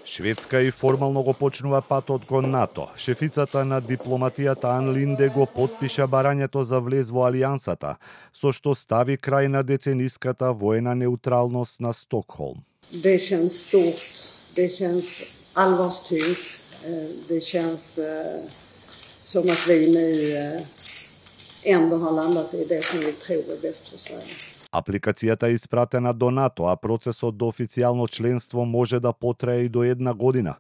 Шведска и формално го почнува патот кон НАТО. Шефицата на дипломатијата Ан Линде го потпиша барањето за влез во алијансата, со што стави крај на децениската воена неутралност на Стокхолм. Det känns stort, det känns allvarstyngt, det känns som att vi nu ändå har landat i det som vi tror är bäst för Sverige. Апликацијата е испратена до НАТО, а процесот до официјално членство може да потрае и до 1 година.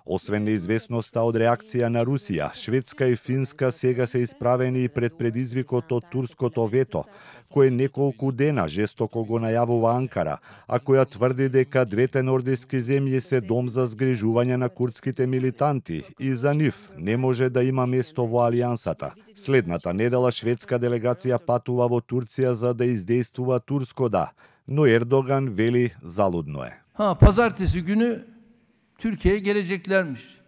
Освен неизвестноста од реакција на Русија, Шведска и Финска сега се исправени и пред предизвикот од турското вето, кој неколку дена жестоко го најавува Анкара, а која тврди дека двете нордиски земји се дом за згрижување на курдските милитанти и за нив не може да има место во алијансата. Следната недела шведска делегација патува во Турција за да издействува турско да, но Ердоган вели залудно е. Pazartesi günü Türkiye'ye geleceklermiş.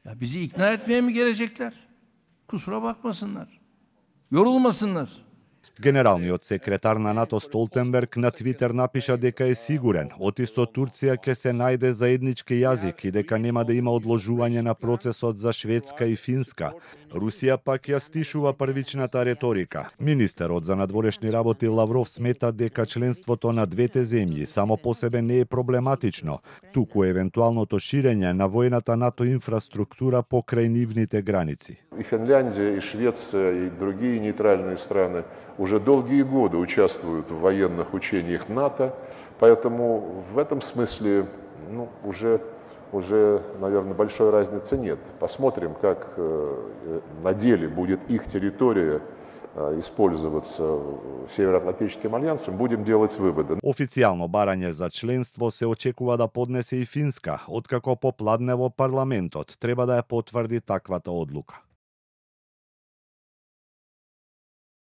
Ya bizi ikna etmeye mi gelecekler? Kusura bakmasınlar. Yorulmasınlar. Генералниот секретар на НАТО Столтенберг на Твитер напиша дека е сигурен, отисто Турција ќе се најде заеднички јазик и дека нема да има одложување на процесот за Шведска и Финска. Русија пак ја стишува првичната реторика. Министерот за надворешни работи Лавров смета дека членството на двете земји само по себе не е проблематично, туку евентуалното ширење на војната НАТО инфраструктура покрај нивните граници. И Финляндија, и Швеција, и другие нейтральные страны уже долгие годы участвуют в военных учениях НАТО, поэтому в этом смысле уже, наверное, большой разницы нет. Посмотрим, как на деле будет их территория использоваться Североатлантическим альянсом, будем делать выводы. Официјално барање за членство се очекува да поднесе и Финска, откако попладне во парламентот треба да ја потврди таквата одлука.